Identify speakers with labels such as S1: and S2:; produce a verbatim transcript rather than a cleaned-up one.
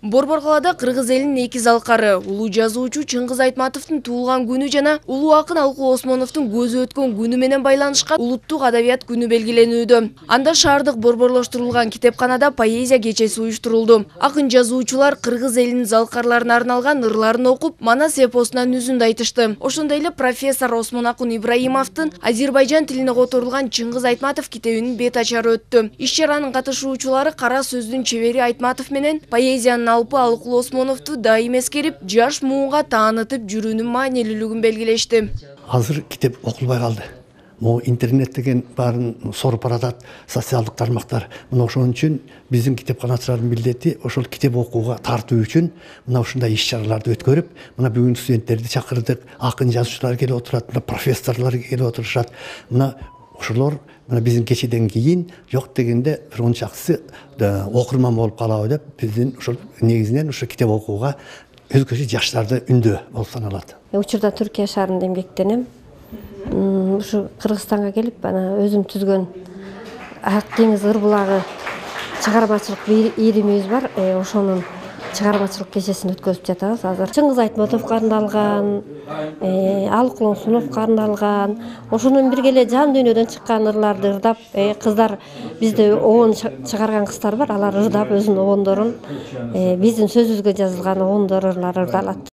S1: Борбор калаада кыргыз элинин эки залкары улуу жазуучу Чыңгыз Айтматовдун туулган күнү жана улуу акын Алкул Осмоновдун көзү өткөн күнү менен байланышкан улуттук адабият күнү белгиленүүдө. Анда шаардык борборлоштурулган китепканада поэзия кечеси уюштурулду. Акын жазуучулар кыргыз элинин залкарларына арналган ырларын окуп, Манас эпосунан үзүндү айтышты. Ошондой эле профессор Осмонакун Ибраимовдун Азербайжан тилине которулган Чыңгыз Айтматов китебинин бет ачары өттү. Иш-чаранын катышуучулары кара сөздүн чебери Айтматов менен поэзиянын алпы Алкул Осмоновду дайым эскерип, жаш муунга таанытып жүрүүнүн маанилүүлүгүн белгилешти.
S2: Азыр китеп окулбай калды. Могу интернет деген баарын соруп баратат, социалдык тармактар. Мына ошон үчүн биздин китепканачылардын милдети ошол китеп окууга тартуу үчүн мына ушундай иш-чараларды өткөрүп, мына бүгүн студенттерди чакырдык, акын жазуучулар келип отурат, мына профессорлор келип отурушат. Мына ошолор мына биздин кечеден кийин жок дегенде бир ончакысы окурман болуп калабы деп биздин ошол негизинен ошо китеп окууга өзгөчө жаштарды үндөө болуп саналат.
S3: Учурда Түркия шаарында эмгектенем. Ушу Кыргызстанга келип, ана өзүм түзгөн Ак деңиз ыр булагы чыгармачылык ийримибиз бар. Ошонун чыгармачылык кечесин өткөзүп жатабыз азыр. Чыңгыз Айтматовго арналган, Алкул Осмоновго арналган, ошонун бирге эле жан дүйнөдөн чыккан ырларды ырдап, кыздар бизде обон чыгарган кыздар бар, алар ырдап өзүнүн обондорун, биздин сөзүбүзгө жазылган обондор ырлар ырдалат.